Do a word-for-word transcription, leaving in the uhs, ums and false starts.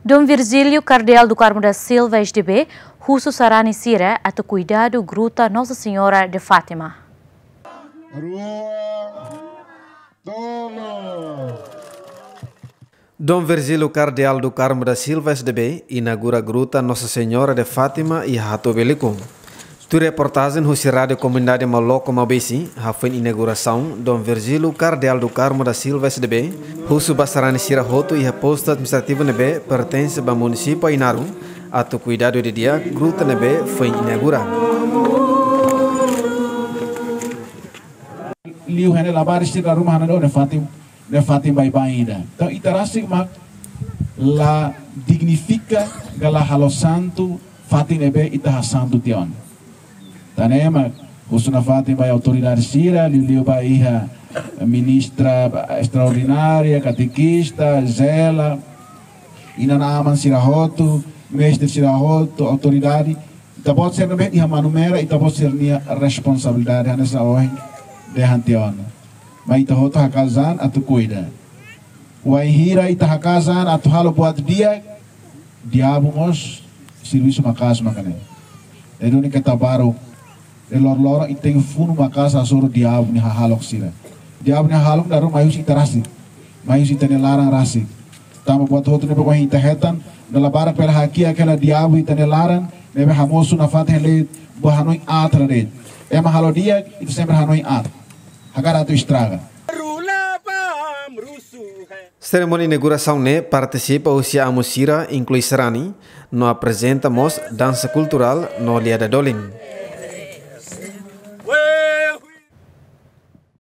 Dom Virgílio Kardeál do Carmo da Silva S D B husu sarani sira atu kuidadu gruta Nossa Senhora de Fátima. Rua, tolu. Dom Virgílio Kardeál do Carmo da Silva S D B inaugura gruta Nossa Senhora de Fátima iha Hato'o Beliko. Tuir reportajen husi Rádiu Komunidade Maloko Maubesi, hafoin inaugurasaun, Dom Virgílio Kardeál do Carmo da Silva S D B husu ba sarani sira hotu iha postu administrativu ne'ebé pertense ba munisípiu Ainaro atu kuidadu didi'ak gruta ne'ebé foin inaugura. Liu hene labarik sira ruma hana no ne fatin, ne fatin baibain ida. Entaun ita rasik mak la dignifika ka la halo santu fatin ne'ebé ita hasantu tiha ona. Tan ne'e mak husu nafatin ba autoridade sira, liuliu ba iha ministra estraordinária, katekista, zela, inan-aman sira hotu, mestre sira hotu, autoridade. Ita-boot sira ne'ebé iha Manumera, ita-boot sira-nia responsabilidade hanesan ohin dehan tiha ona. Mai ita hotu hakaas an atu kuida. Wainhira ita hakaas an atu halo buat di'ak, diabu mós servisu maka'as mak ne'e. Ne'e duni keta baru, ne'e loroloron ita tenke funu maka'as hasoru diabu nia hahalok sira. Diabu nia hahalok dala ruma mai husi ita rasik, mai husi ita-nia laran rasik. Tanba buat hotu ne'ebé ohin ita hetan, ne'e la barak pela hakiak hela diabu ita-nia laran, ne'ebé hamosu nafatin hela buat hanoin aat hela de'it. Ema halo di'ak, ita sempre hanoin aat. Hakarak atu estraga. Serimónia inaugurasaun ne'e partisipa husi amu sira inklui sarani, no aprezenta mós dansa kulturál no liada dolin.